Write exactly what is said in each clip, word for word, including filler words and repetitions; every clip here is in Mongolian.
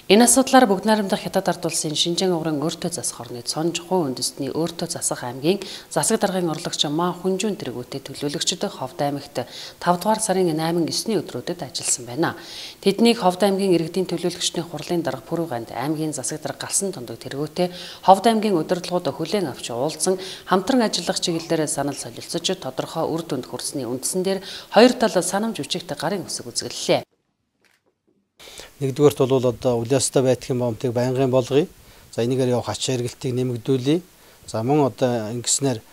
Энэ асуудлаар бүгд найрамдах Хятад ард улсын Шинжаан угрын өөртөө засах орны Цонж хувь үндэстний өөртөө засах аймгийн засаг даргын орлогч Маа Хүнжүүн тэргүүтээ төлөөлөгчд Ховд аймагт тавд дугаар сарын найман есний өдрүүдэд ажилласан байна. Тэднийг Ховд аймгийн иргэдийн төлөөлөгчдийн хурлын дарга Пүрэвганд аймгийн засаг дарга галсан тундаг тэргүүтээ Ховд аймгийн удирдлагууд хүлээн авч уулзсан хамтран ажиллах чиглэлээр санал солилцож тодорхой үр дүнд хүрсэний үндсэн дээр хоёр тал санамж үчигт гарын үсэг үзэглэлээ. Нэгдүгээрт бол одоо улаастай байтгийн бомтыг байнгын болгоё. За энийгээр явах ач харилцааг нэмэгдүүлье. За мөн одоо ингэснээр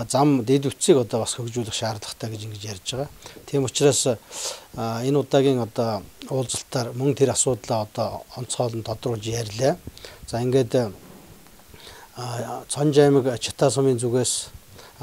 зам дэд үтцийг одоо бас хөгжүүлэх шаардлагатай гэж ингэж ярьж байгаа. Тийм учраас энэ удаагийн одоо уулзалтаар мөн тэр асуудлаа одоо онцгойлон тодруулж ярьлаа. За ингээд Цонж аймаг Чита сумын зүгээс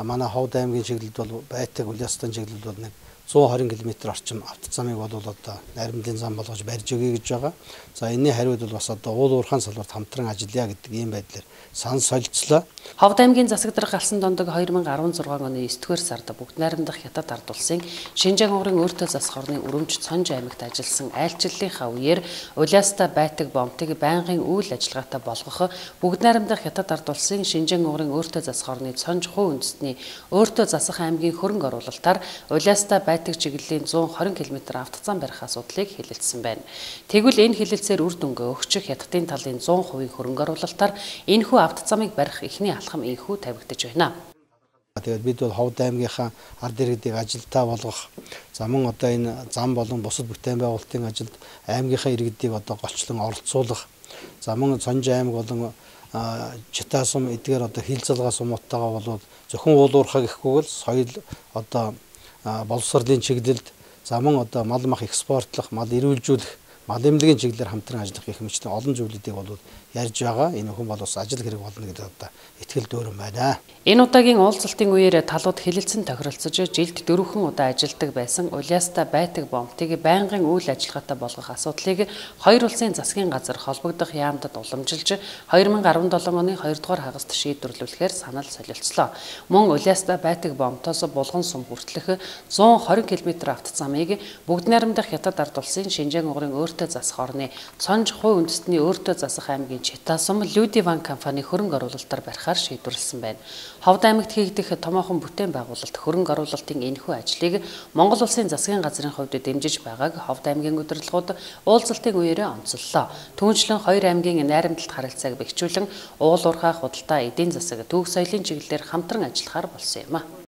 манай Ховд аймгийн чиглэлд бол байтаг улаастай чиглэлд бол нэг зуун хорин километр орчим автозамыг бол одоо найрамдлын зам болгож барьж өгье гэж байгаа. За энэний хариуд бол бас одоо уул уурхайн салбарт хамтран ажиллая гэдэг ийм байдлаар сан солилцлоо. Ховд аймгийн засаг дарга галсан дондог хоёр мянга арван зургаан оны есдүгээр сард бүгд найрамдах Хятад ард улсын Шинжаан угрын өөртөө засах орны өрөмж Цонж аймагт ажилласан айлчлалынхаа үеэр улаастай байтаг бомтыг байнгын үйл ажиллагаатай болгох бүгд найрамдах Хятад ард улсын Шинжаан угрын өөртөө засах орны Цонж хувь үндэстний өөртөө засах аймгийн хөрөнгө оруулалтаар улаастай байтаг чиглэлийн зуун хорин километр автозам барих асуудлыг хэлэлцсэн байна. Тэгвэл энэ хэлэлцээр үр дүнгээ өгч Хятадын талын зуун хувийн хөрөнгө оруулалтаар энэхүү автозамыг барих эхний алхам инхүү тавигдаж байна. Тэгээд бид бол Ховд аймгийнхаа ард иргэдийг ажилтаа болгох, за мөн одоо энэ зам болон бусад бүтээн байгуулалтын ажилд аймгийнхаа иргэдийг одоо голчлон оролцуулах, за мөн Цонж аймаг болон Чита сум эдгээр одоо хилцэлгаа сумуудтайгаа бол зөвхөн уул уурхай гэхгүй бол соёл одоо боловсролын чиглэлд, за мөн одоо мал мах экспортлох, мал эрүүлжүүлэх, мал эмнэлгийн чиглэлээр хамтран ажиллах гэх мэтчлэн олон зүйлүүдийг бол ярьж байгаа. Энэ хүн бол бас ажил хэрэг болно гэдэг одоо итгэл дүүрэн байна. Энэ удаагийн уулзалтын үеэр талууд хэлэлцэн тохиролцож жилд дөрвөн удаа ажилдаг байсан улаастай байтаг бомтыг байнгын үйл ажиллагаатай болгох асуудлыг хоёр улсын засгийн газар холбогдох яамдад уламжилж хоёр мянга арван долоо оны хоёр дугаар хагаст шийдвэрлүүлэхээр санал солилцлоо. Мөн улаастай байтаг бомтоос булган сум хүртэлх зуун хорин километр автозамыг бүгд найрамдах Хятад ард улсын Шинжаан угрын өөртөө засах орны Цонж хувь үндэстний өөртөө засах аймгийн Чита сум Людиван компани хөрөнгө оруулалтаар барихаар шийдвэрлсэн байна. Ховд аймагт хийгдэх томоохон бүтээн байгуулалт хөрөнгө оруулалтын энэхүү ажлыг Монгол улсын засгийн газрын хувьд дэмжиж байгааг Ховд аймгийн удирдлагууд уулзалтын үеэрээ онцоллоо. Түүнчлэн хоёр аймгийн найрамдалт харилцааг бэхжүүлэн уул уурхай, худалдаа, эдийн засаг, түүх соёлын чиглэлээр хамтран ажиллахаар болсон юм а.